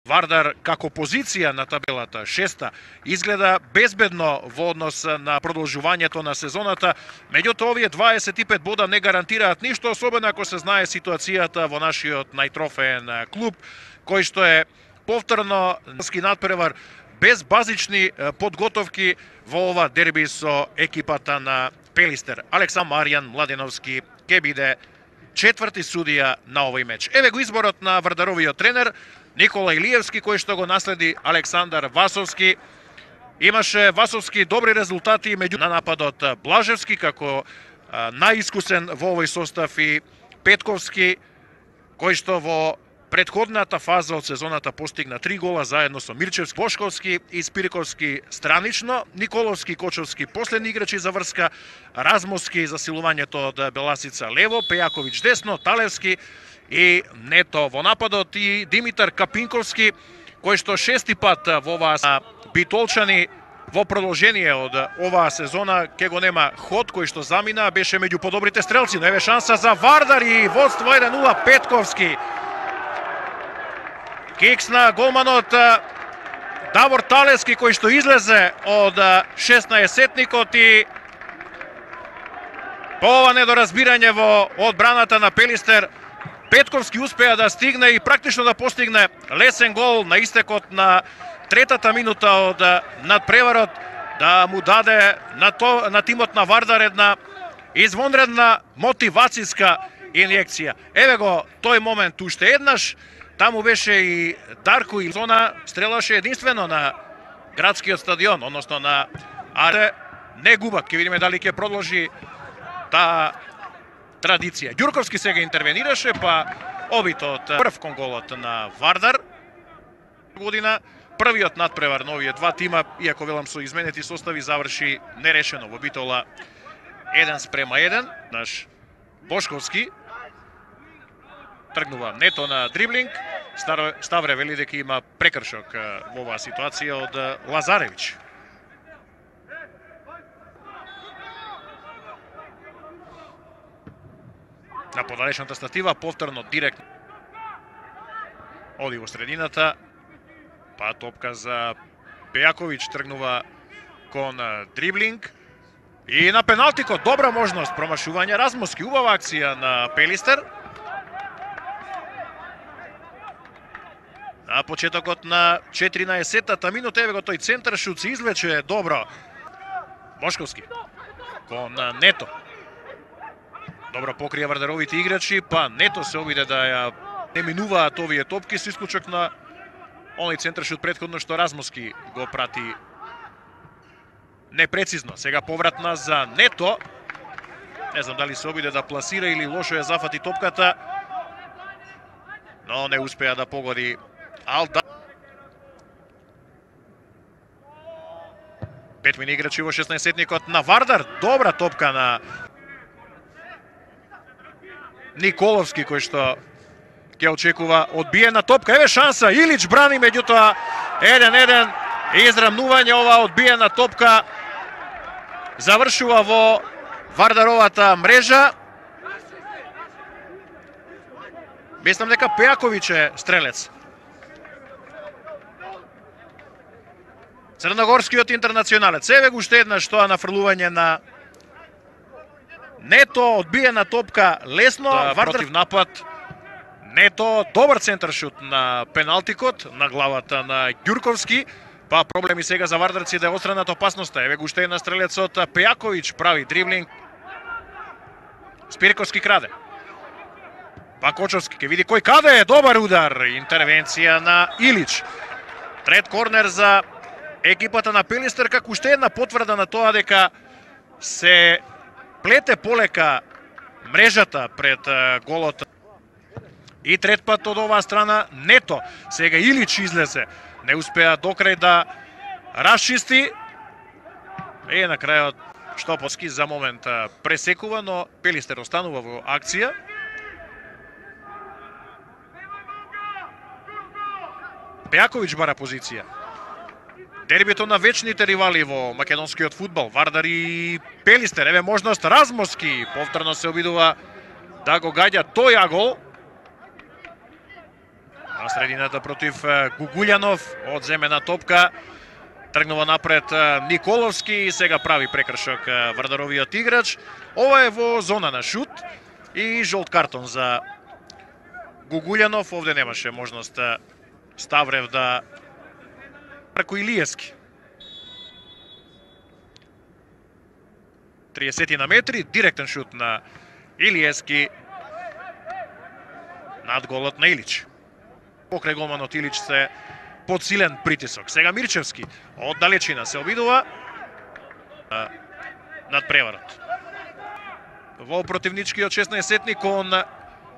Вардар како позиција на табелата, шеста, изгледа безбедно во однос на продолжувањето на сезоната, меѓутоа овие 25 бода не гарантираат ништо, особено ако се знае ситуацијата во нашиот најтрофеен клуб, кој што е повторно надпревар без базични подготовки во ова дерби со екипата на Пелистер. Александр Маријан Младеновски ќе биде четврти судија на овој меч. Еве го изборот на Вардаровиот тренер Никола Илиевски, кој што го наследи Александар Васовски. Имаше Васовски добри резултати меѓу на нападот Блажевски како најискусен во овој состав и Петковски, кој што во предходната фаза од сезоната постигна 3 гола заедно со Мирчевски, Бошковски и Спириковски странично, Николовски и Кочовски последни играчи за врска, Размовски за силувањето од Беласица лево, Пејаковиќ десно, Талевски и Нето во нападот и Димитар Капинковски, кој што шести пат во оваа битолчани во продолжение од оваа сезона ќе го нема ход кој што замина, беше меѓу подобрите стрелци, но еве шанса за Вардар и водство 1-0 Петковски. Кикс на голманот Давор Талевски кој што излезе од 16-сетникот и по ова недоразбирање во одбраната на Пелистер Петковски успеа да стигне и практично да постигне лесен гол на истекот на третата минута од надпреварот, да му даде на тимот на Вардар една извонредна мотивацијска инјекција. Еве го тој момент уште еднаш. Таму беше и Дарко и зона стрелаше единствено на градскиот стадион, односно на Аре. Не губак, ќе видиме дали ќе продолжи таа традиција. Ѓурковски сега интервенираше, па обитот прв кон голот на Вардар година. Првиот надпревар на овие два тима, иако велам со изменети состави, заврши нерешено во битола 1:1. Наш Бошковски тргнува Нето на дриблинг. Ставре вели дека има прекршок во оваа ситуација од Лазаревиќ. На подалечната статива, повторно директно оди во средината, па топка за Пејаковиќ, тргнува кон дриблинг. И на пеналтикот добра можност, промашување Размовски, убава акција на Пелистер. На почетокот на 14-тата минута, еве го тој центар шут се извлече добро. Бошковски кон Нето. Добро покрија Вардаровите играчи, па Нето се обиде да ја не минуваат овие топки со исклучок на оној центар шут претходно што Размовски го прати непрецизно. Сега повратна за Нето. Не знам дали се обиде да пласира или лошо ја зафати топката, но не успеа да погоди Алда. 5 мини играчи во 16-сетникот на Вардар. Добра топка на Николовски, кој што ќе очекува одбиена топка. Еве шанса, Илич брани, меѓутоа 1-1 израмнување. Ова одбиена топка завршува во Вардаровата мрежа. Мислам дека Пејаковиќ е стрелец. Црногорскиот интернационалец. Еве го уште еднаш тоа нафрлување на Нето, одбиена топка лесно, против напад. Нето, добар центар шут на пеналтикот, на главата на Ѓурковски. Па проблеми сега за вардарци да е отстранат опасноста. Еве го уште една стрелецот Пејаковиќ прави дриблинг. Спириковски краде. Па Кочовски ќе види кој каде е, добар удар, интервенција на Илич. Трет корнер за екипата на Пелистер, како уште една потврда на тоа дека се плете полека мрежата пред голот. И трет пат од оваа страна Нето. Сега Илич излезе. Не успеа докрај да расчисти. И на крајот Штоповски за момент пресекува, но Пелистер останува во акција. Пејаковиќ бара позиција. Дербито на вечните ривали во македонскиот фудбал. Вардар и Пелистер. Еве можност Размовски. Повторно се обидува да го гаѓа тој агол. На средината против Гугулјанов, одземена топка, тргнува напред Николовски и сега прави прекршок Вардаровиот играч. Ова е во зона на шут и жолт картон за Гугулјанов. Овде немаше можност Ставрев да преку Илиевски. 30 на метри, директен шут на Илиевски над голот на Илич. Покрај голманот Илич се подсилен притисок. Сега Мирчевски од далечина се обидува над преварот. Во противничкиот 16-сетник кон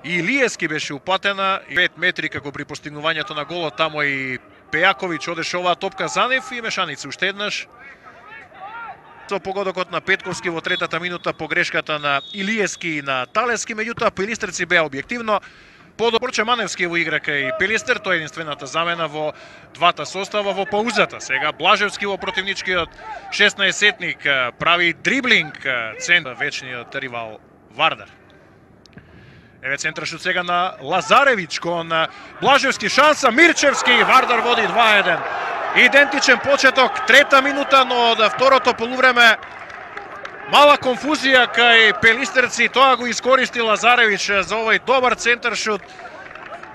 Илиевски беше упатена 5 метри како при постигнувањето на голот. Тамо и Пејаковиќ одеше оваа топка за нив и мешаница уште еднаш. Со погодокот на Петковски во третата минута погрешката на Илиевски и на Талески, меѓутоа пелистерци беа објективно Борче Маневски во игра кај Пелистер, тој е единствената замена во двата состава во паузата. Сега Блажевски во противничкиот 16-сетник прави дриблинг, центар вечниот ривал Вардар. Еве центрашут сега на Лазаревиќ кон Блажевски, шанса Мирчевски, Вардар води 2-1. Идентичен почеток, трета минута, но од второто полувреме мала конфузија кај пелистерци, тоа го искористи Лазаревиќ за овој добар центаршут.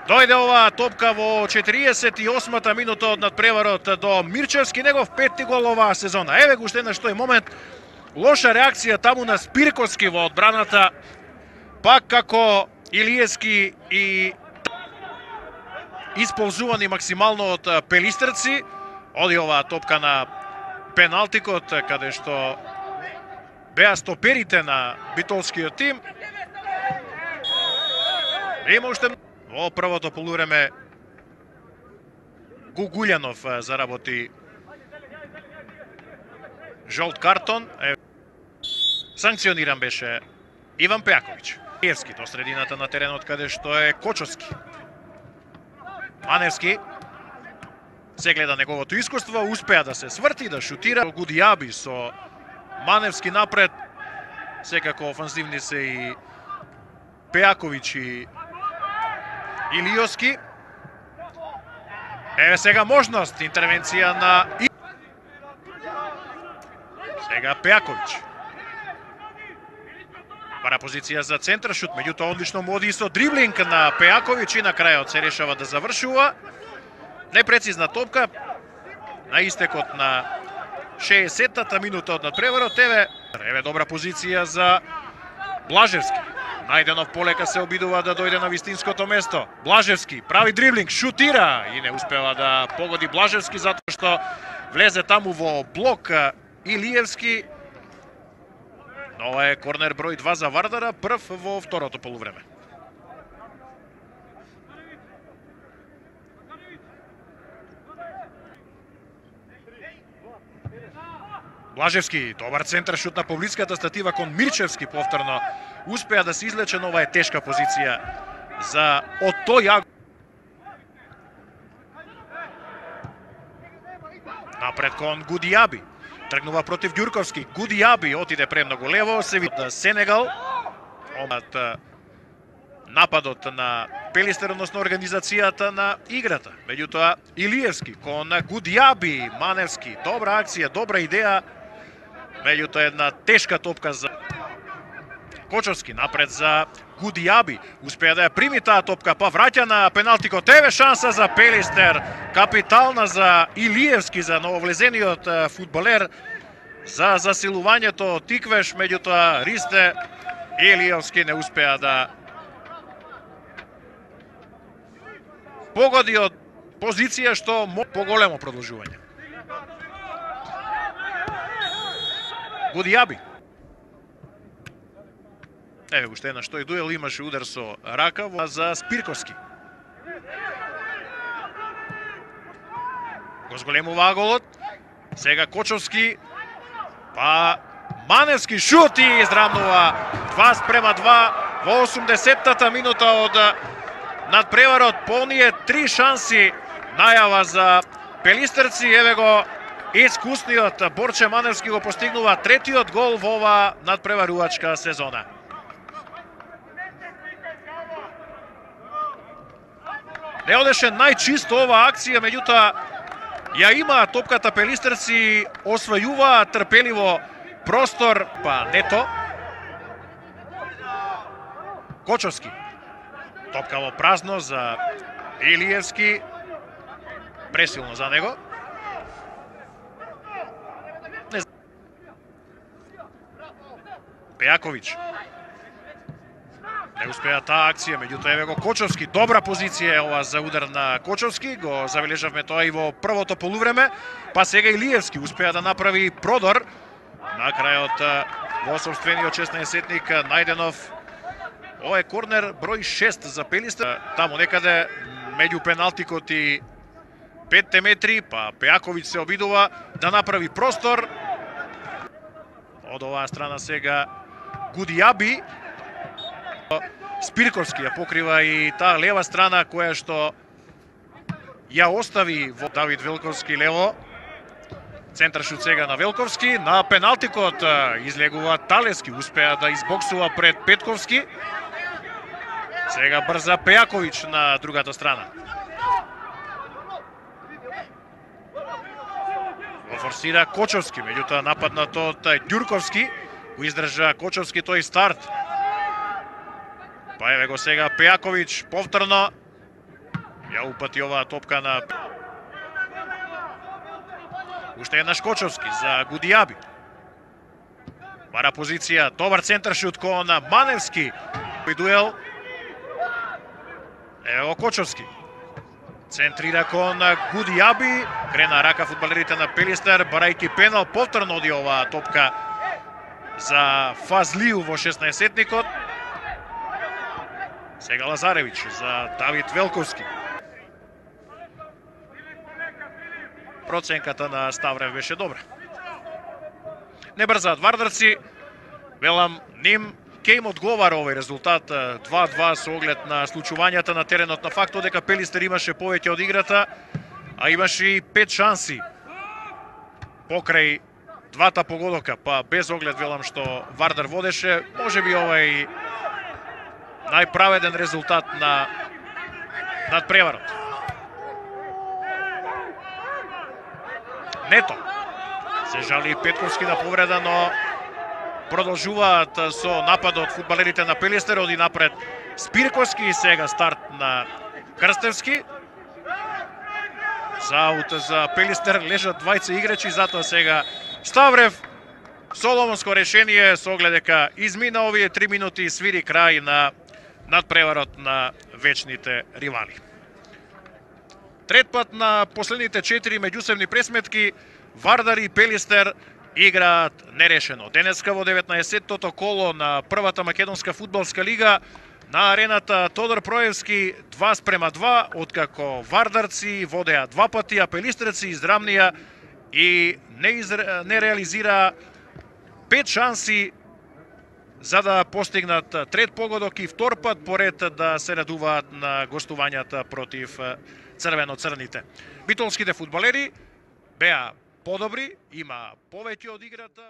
Дојде оваа топка во 48-та минута од надпреварот до Мирчевски, негов петти гол оваа сезона. Еве го уште еднаш тој момент, лоша реакција таму на Спирковски во одбраната, пак како Илиевски и исползувани максимално од пелистерци. Оди оваа топка на пеналтикот, каде што беа стоперите на битолскиот тим. Има уште во првото полувреме Гугулјанов заработи жолт картон. Санкциониран беше Иван Пејаковиќ. Илиевски до средината на теренот каде што е Кочовски. Маневски се гледа неговото искуство, успеа да се сврти, да шутира. Гудијаби со Маневски напред, секако офанзивни се и Пејаковиќ и Илиевски. Еве сега можност, интервенција на сега Пејаковиќ. Пара позиција за центаршут, меѓутоа одлично му оди со дриблинг на Пејаковиќ и на крајот се решава да завршува. Непрецизна топка на истекот на 60-та минута од надпреварот. Еве добра позиција за Блажевски. Најденов полека се обидува да дојде на вистинското место. Блажевски прави дриблинг, шутира и не успева да погоди Блажевски затоа што влезе таму во блок Илиевски. Ова е корнер број 2 за Вардара, прв во второто полувреме. Блажевски, добар центар шут на поблиската статива кон Мирчевски повторно. Успеа да се излече, но ова е тешка позиција за Ото Јагов. Напред кон Гудијаби. Тргнува против Ѓурковски. Гудијаби отиде премногу лево, се види Сенегал. Нападот на Пелистер, односно организацијата на играта. Меѓутоа Илиевски кон Гудијаби, Маневски. Добра акција, добра идеја. Меѓутоа една тешка топка за Кочовски, напред за Гудијаби. Успеа да ја прими таа топка, па враќа на пеналтикот. Еве шанса за Пелистер, капитална за Илиевски, за нововлезениот фудбалер, за засилувањето тиквеш, меѓутоа Ристе Илиевски не успеа да погоди од позиција што поголемо продолжување. Гудијаби. Еве уште еднаш тој дуел, имаше удар со рака за Спирковски. Го зголемува голот. Сега Кочовски, па Маневски шут и израмнува 2:2 во 80-та минута од надпреварот. По оние 3 шанси најава за пелистерци. Еве го искусниот Борче Маневски го постигнува третиот гол во оваа надпреварувачка сезона. Не одеше најчисто оваа акција, меѓутоа ја има топката пелистерци, освојува трпеливо простор, па Нето. Кочовски. Топка во празно за Илиевски. Пресилно за него. Пејаковиќ. Не успеа таа акција, меѓутоа еве го Кочовски. Добра позиција е ова за удар на Кочовски. Го забележавме тоа и во првото полувреме. Па сега Илиевски успеа да направи продор. На крајот во сопствениот 16-сетник Најденов. Ова е корнер број 6 за Пелистер. Таму некаде меѓу пеналтикот и 5 метри, па Пејаковиќ се обидува да направи простор. Од оваа страна сега Гудијаби. Спирковски ја покрива и таа лева страна која што ја остави во Давид Велковски лево. Центаршут сега на Велковски. На пеналтикот излегува Талески. Успеа да избоксува пред Петковски. Сега брза Пејаковиќ на другата страна. Го форсира Кочовски, меѓутоа нападнат од Ѓурковски. Го издржа Кочовски тој старт. Па еве го сега Пејаковиќ повторно. Ја упати оваа топка на уште еднаш Кочовски за Гудијаби. Бара позиција, добар центаршут кон Маневски. Дуел. Ево го Кочовски. Центрира кон Гудијаби. Крена рака фудбалерите на Пелистер, барајќи пенал. Повторно оди оваа топка за Фазлиу во 16-сетникот. Сега Лазаревиќ за Давид Велковски. Проценката на Ставрев беше добра. Не брзаат вардарци. Велам, ним ке им одговара овој резултат 2-2 со оглед на случувањата на теренот, на фактот дека Пелистер имаше повеќе од играта, а имаше и 5 шанси покрај двата погодока, па без оглед велам што Вардар водеше, можеби овај најправеден резултат на надпреварот. Нето. Се жали Петковски на повреда, но продолжуваат со нападот фудбалерите на Пелистер. Оди напред Спирковски и сега старт на Крстевски. За аут за Пелистер лежат двајца играчи, затоа сега Ставрев соломонско решение со оглед дека измина овие 3 минути и свири крај на надпреварот на вечните ривали. Трет пат на последните 4 меѓусебни пресметки Вардар и Пелистер играат нерешено. Денеска во 19-тото коло на првата македонска фудбалска лига на арената Тодор Проевски 2:2, откако вардарци водеа 2 пати, а пелистерци израмнија и не реализираа 5 шанси за да постигнат трет погодок и втор пат поред да се радуваат на гостувањата против црвено-црните. Битолските фудбалери беа подобри, има повеќе од играта.